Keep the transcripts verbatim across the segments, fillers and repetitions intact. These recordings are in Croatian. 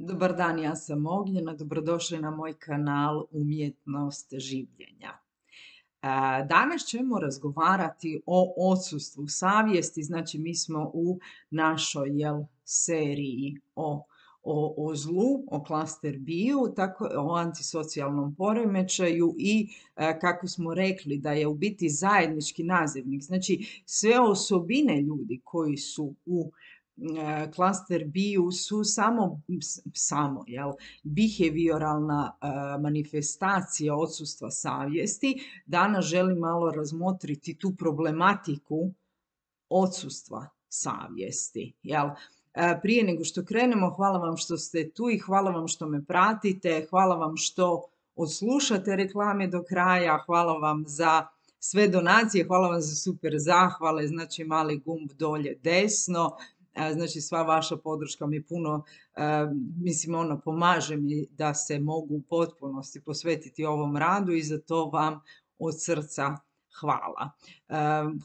Dobar dan, ja sam Ognjena, dobrodošli na moj kanal Umjetnost življenja. E, Danas ćemo razgovarati o odsustvu savjesti, znači mi smo u našoj jel, seriji o, o, o zlu, o klaster biju, tako, o antisocijalnom poremećaju i e, kako smo rekli da je u biti zajednički nazivnik, znači sve osobine ljudi koji su u klaster biju su samo, samo jel, behavioralna uh, manifestacija odsustva savjesti. Danas želim malo razmotriti tu problematiku odsustva savjesti. Jel? Prije nego što krenemo, hvala vam što ste tu i hvala vam što me pratite, hvala vam što odslušate reklame do kraja, hvala vam za sve donacije, hvala vam za super zahvale, znači mali gumb dolje desno. Znači sva vaša podrška mi puno, mislim ono, pomaže mi da se mogu u potpunosti posvetiti ovom radu i za to vam od srca hvala.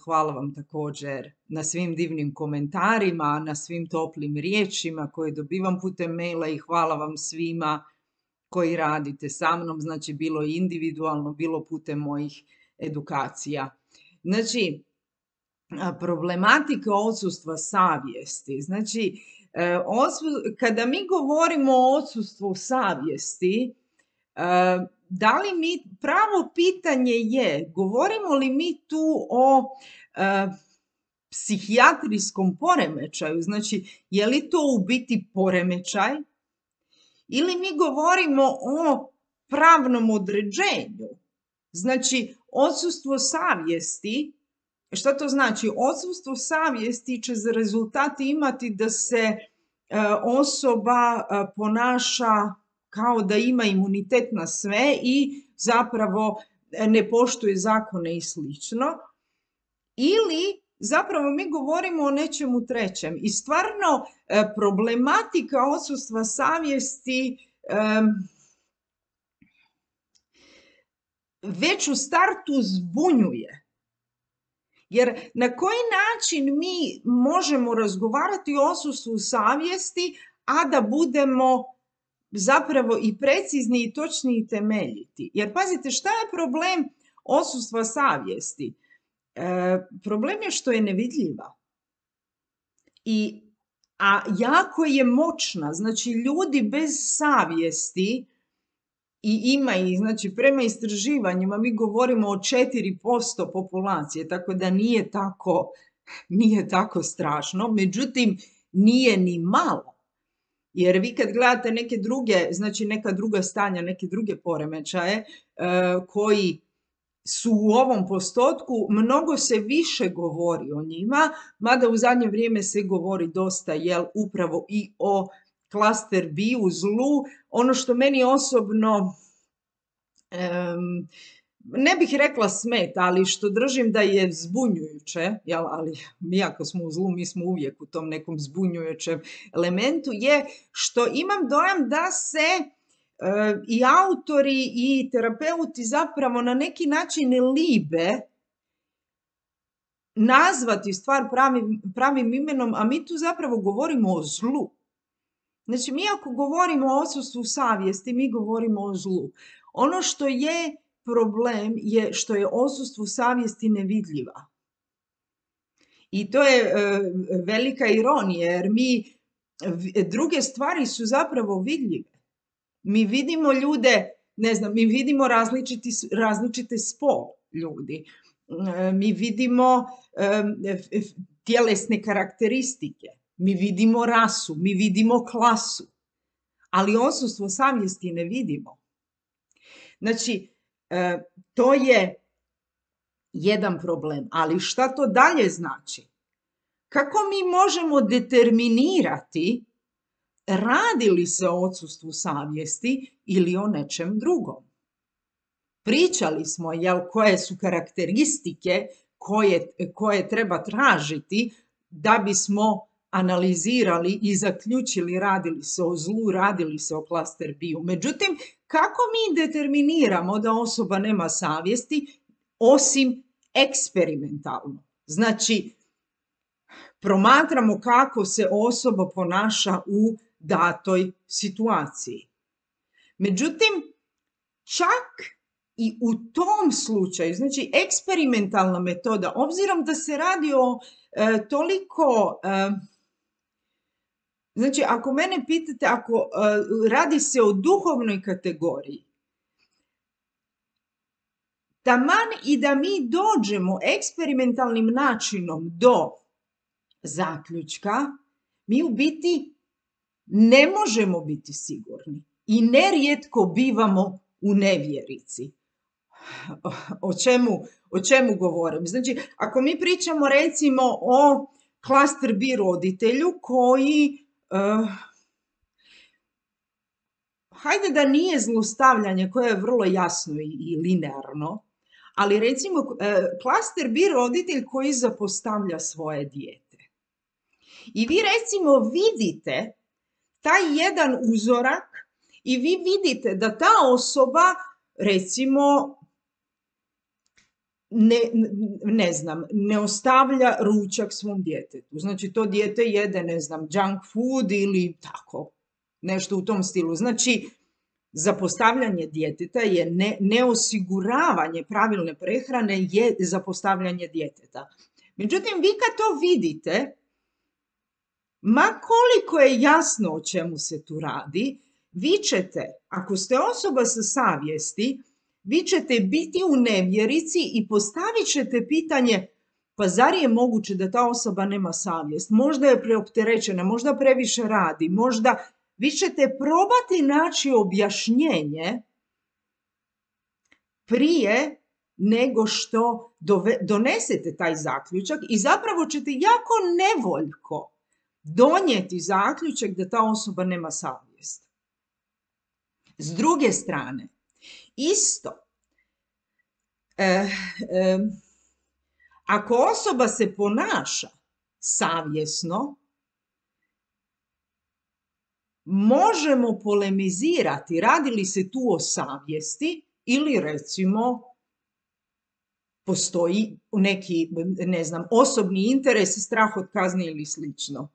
Hvala vam također na svim divnim komentarima, na svim toplim riječima koje dobivam putem maila i hvala vam svima koji radite sa mnom, znači bilo individualno, bilo putem mojih edukacija. Znači, problematika odsustva savjesti. Znači, kada mi govorimo o odsustvu savjesti, da li mi, pravo pitanje je, govorimo li mi tu o psihijatrijskom poremećaju, znači je li to u biti poremećaj ili mi govorimo o pravnom određenju. Znači, odsustvo savjesti. Šta to znači? Odsustvo savjesti će za rezultat imati da se e, osoba e, ponaša kao da ima imunitet na sve i zapravo ne poštuje zakone i slično. Ili zapravo mi govorimo o nečemu trećem. I stvarno e, problematika odsustva savjesti e, već u startu zbunjuje. Jer na koji način mi možemo razgovarati o odsustvu savjesti, a da budemo zapravo i precizni i točni i temeljiti? Jer pazite, šta je problem odsustva savjesti? E, problem je što je nevidljiva. I, a jako je moćna. Znači, ljudi bez savjesti, i ima ih, znači prema istraživanjima mi govorimo o četiri posto populacije, tako da nije tako, nije tako strašno, međutim nije ni malo. Jer vi kad gledate neke druge, znači neka druga stanja, neke druge poremećaje e, koji su u ovom postotku, mnogo se više govori o njima, mada u zadnje vrijeme se govori dosta jel, upravo i o klaster biju, zlu. Ono što meni osobno, um, ne bih rekla smeta, ali što držim da je zbunjujuće, jel, ali mi ako smo u zlu, mi smo uvijek u tom nekom zbunjujućem elementu, je što imam dojam da se uh, i autori i terapeuti zapravo na neki način libe nazvati stvar pravim, pravim imenom, a mi tu zapravo govorimo o zlu. Znači, mi ako govorimo o odsustvu savjesti, mi govorimo o zlu. Ono što je problem je što je odsustvo savjesti nevidljiva. I to je e, velika ironija, jer mi, druge stvari su zapravo vidljive. Mi vidimo ljude, ne znam, mi vidimo različiti, različite spol ljudi. E, mi vidimo e, tjelesne karakteristike. Mi vidimo rasu, mi vidimo klasu, ali odsustvo savjesti ne vidimo. Znači, e, to je jedan problem, ali šta to dalje znači? Kako mi možemo determinirati radi li se o odsustvu savjesti ili o nečem drugom? Pričali smo, jel, koje su karakteristike koje, koje treba tražiti da bismo analizirali i zaključili radili se o zlu, radili se o klaster biju. Međutim, kako mi determiniramo da osoba nema savjesti osim eksperimentalno? Znači, promatramo kako se osoba ponaša u datoj situaciji. Međutim, čak i u tom slučaju, znači eksperimentalna metoda, obzirom da se radi o e, toliko, e, znači ako mene pitate, ako e, radi se o duhovnoj kategoriji, taman i da mi dođemo eksperimentalnim načinom do zaključka, mi u biti ne možemo biti sigurni i nerijetko bivamo u nevjerici. O čemu, o čemu govorim? Znači, ako mi pričamo recimo o klaster B roditelju koji, uh, hajde da nije zlostavljanje koje je vrlo jasno i, i linearno, ali recimo uh, klaster B roditelj koji zapostavlja svoje dijete. I vi recimo vidite taj jedan uzorak i vi vidite da ta osoba recimo ne, ne znam, ne ostavlja ručak svom djetetu. Znači to dijete jede, ne znam, junk food ili tako, nešto u tom stilu. Znači, zapostavljanje djeteta je ne, neosiguravanje pravilne prehrane je zapostavljanje djeteta. Međutim, vi kad to vidite, ma koliko je jasno o čemu se tu radi, vi ćete, ako ste osoba sa savjesti, vi ćete biti u nevjerici i postavit ćete pitanje, pa zar je moguće da ta osoba nema savjest? Možda je preopterećena, možda previše radi, možda vi ćete probati naći objašnjenje prije nego što dove, donesete taj zaključak i zapravo ćete jako nevoljko donijeti zaključak da ta osoba nema savjest. S druge strane, isto, e, e, ako osoba se ponaša savjesno, možemo polemizirati radi li se tu o savjesti ili recimo postoji neki, ne znam, osobni interes, strah od kazne ili slično.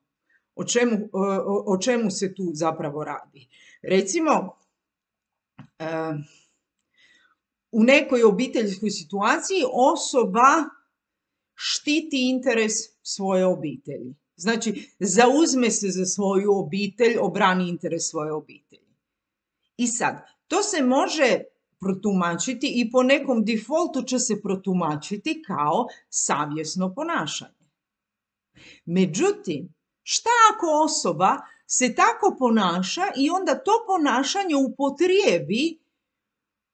O čemu, o, o čemu se tu zapravo radi? Recimo, e, u nekoj obiteljskoj situaciji osoba štiti interes svoje obitelji. Znači, zauzme se za svoju obitelj, obrani interes svoje obitelji. I sad, to se može protumačiti i po nekom defaultu će se protumačiti kao savjesno ponašanje. Međutim, šta ako osoba se tako ponaša i onda to ponašanje upotrijebi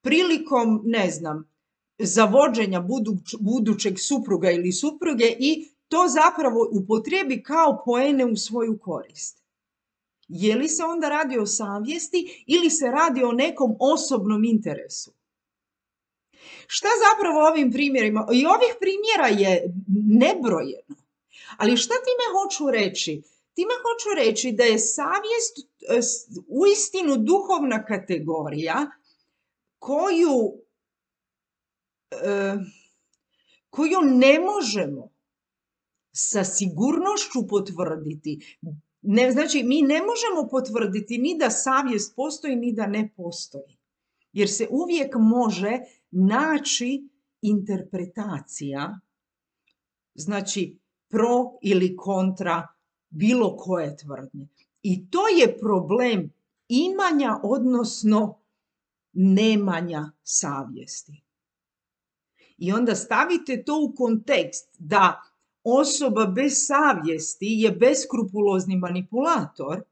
prilikom, ne znam, zavođenja buduć, budućeg supruga ili supruge i to zapravo upotrijebi kao poene u svoju korist? Je li se onda radi o savjesti ili se radi o nekom osobnom interesu? Šta zapravo ovim primjerima? I ovih primjera je nebrojeno. Ali šta time hoću reći? Time hoću reći da je savjest uistinu duhovna kategorija koju, koju ne možemo sa sigurnošću potvrditi. Ne, znači, mi ne možemo potvrditi ni da savjest postoji, ni da ne postoji. Jer se uvijek može naći interpretacija, znači pro ili kontra bilo koje tvrdnje. I to je problem imanja, odnosno nemanja savjesti. I onda stavite to u kontekst da osoba bez savjesti je beskrupulozni manipulator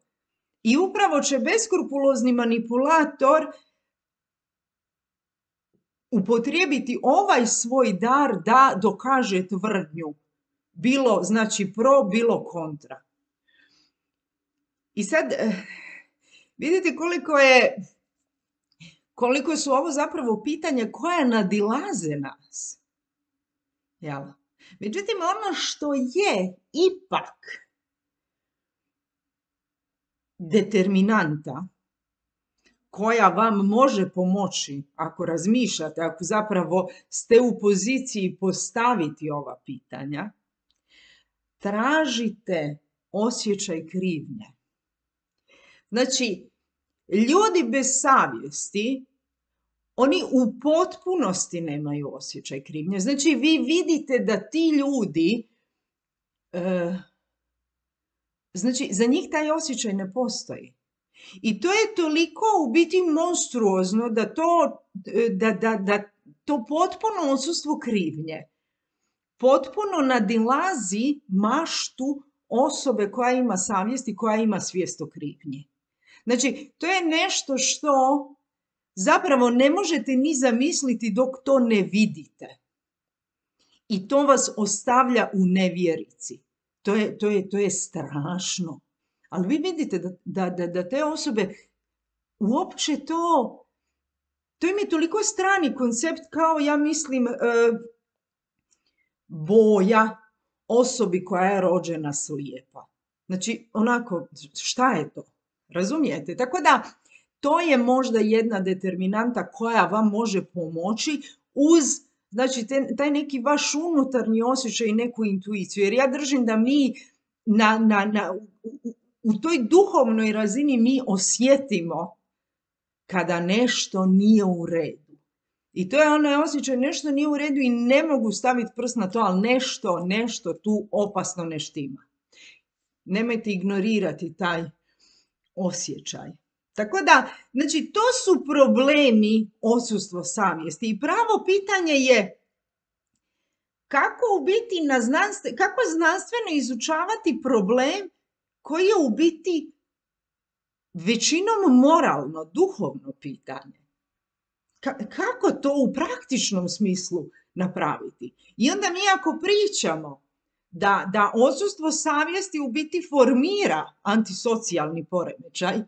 i upravo će beskrupulozni manipulator upotrijebiti ovaj svoj dar da dokaže tvrdnju. Bilo, znači, pro, bilo kontra. I sad, vidite koliko je, koliko su ovo zapravo pitanja koja nadilaze nas. Jel? Međutim, ono što je ipak determinanta koja vam može pomoći ako razmišljate, ako zapravo ste u poziciji postaviti ova pitanja, tražite osjećaj krivnje. Znači, ljudi bez savjesti, oni u potpunosti nemaju osjećaj krivnje. Znači, vi vidite da ti ljudi, e, znači, za njih taj osjećaj ne postoji. I to je toliko u biti monstruozno da to, da, da, da to potpuno odsustvo krivnje potpuno nadilazi maštu osobe koja ima savjest i koja ima svijest o krivnji. Znači, to je nešto što zapravo ne možete ni zamisliti dok to ne vidite. I to vas ostavlja u nevjerici. To je, to je, to je strašno. Ali vi vidite da, da, da, da te osobe uopće to, to im je toliko strani koncept kao, ja mislim, boja osobi koja je rođena slijepa. Znači, onako, šta je to? Razumijete? Tako da, to je možda jedna determinanta koja vam može pomoći uz, znači, te, taj neki vaš unutarnji osjećaj i neku intuiciju. Jer ja držim da mi na, na, na, u, u toj duhovnoj razini mi osjetimo kada nešto nije u redu. I to je onaj osjećaj, nešto nije u redu i ne mogu staviti prst na to, ali nešto, nešto tu opasno ne štima. Nemojte ignorirati taj osjećaj. Tako da, znači, to su problemi odsustva savjesti. I pravo pitanje je kako u biti na znanstven, kako znanstveno izučavati problem koji je u biti većinom moralno, duhovno pitanje. Kako to u praktičnom smislu napraviti? I onda mi ako pričamo da, da odsustvo savjesti u biti formira antisocijalni poremećaj,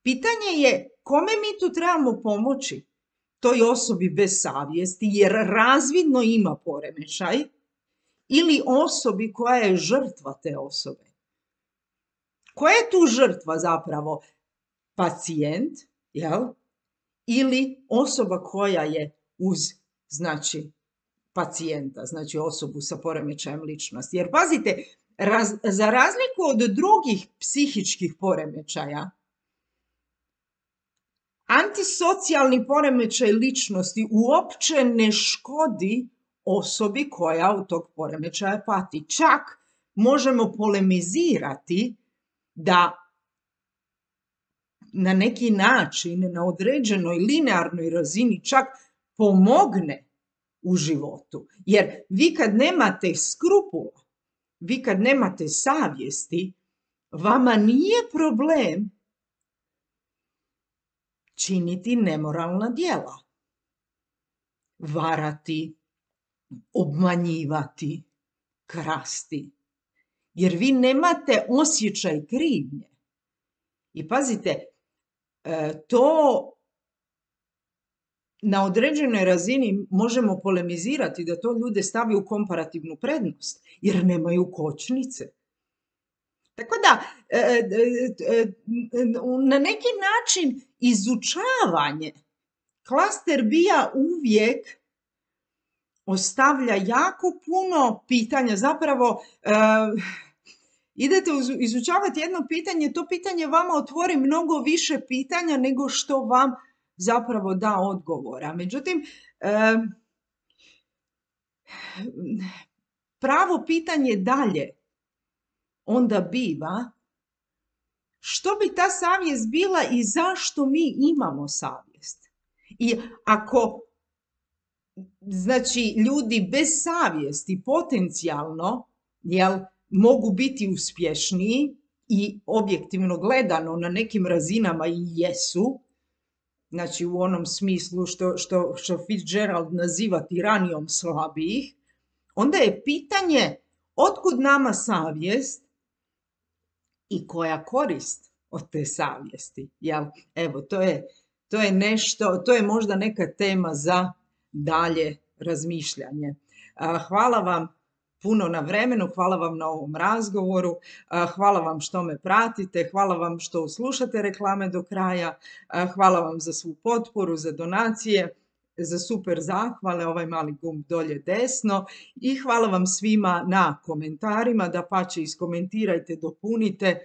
pitanje je kome mi tu trebamo pomoći? Toj osobi bez savjesti jer razvidno ima poremećaj ili osobi koja je žrtva te osobe? Koja je tu žrtva zapravo? Pacijent, jel? Ili osoba koja je uz, znači, pacijenta, znači osobu sa poremećajem ličnosti. Jer pazite, raz, za razliku od drugih psihičkih poremećaja, antisocijalni poremećaj ličnosti uopće ne škodi osobi koja od tog poremećaja pati. Čak možemo polemizirati da na neki način, na određenoj linearnoj razini čak pomogne u životu. Jer vi kad nemate skrupula, vi kad nemate savjesti, vama nije problem činiti nemoralna djela. Varati, obmanjivati, krasti. Jer vi nemate osjećaj krivnje. I pazite, to na određenoj razini možemo polemizirati da to ljude stavi u komparativnu prednost, jer nemaju kočnice. Tako da, na neki način izučavanje klaster bija uvijek ostavlja jako puno pitanja. Zapravo, idete izučavati jedno pitanje, to pitanje vama otvori mnogo više pitanja nego što vam zapravo da odgovora. Međutim, pravo pitanje dalje onda biva što bi ta savjest bila i zašto mi imamo savjest. I ako, znači, ljudi bez savjesti potencijalno, jel, mogu biti uspješniji i objektivno gledano na nekim razinama i jesu, znači u onom smislu što, što, što Fitzgerald naziva tiranijom slabijih, onda je pitanje otkud nama savjest i koja korist od te savjesti. Jel? Evo, to je, to je nešto, to je možda neka tema za dalje razmišljanje. Hvala vam puno na vremenu, hvala vam na ovom razgovoru, hvala vam što me pratite, hvala vam što slušate reklame do kraja, hvala vam za svu potporu, za donacije, za super zahvale, ovaj mali gumb dolje desno i hvala vam svima na komentarima, dapače iskomentirajte, dopunite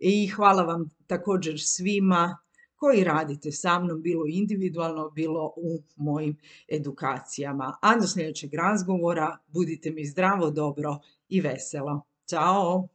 i hvala vam također svima koji radite sa mnom, bilo individualno, bilo u mojim edukacijama. A do sljedećeg razgovora budite mi zdravo, dobro i veselo. Ćao!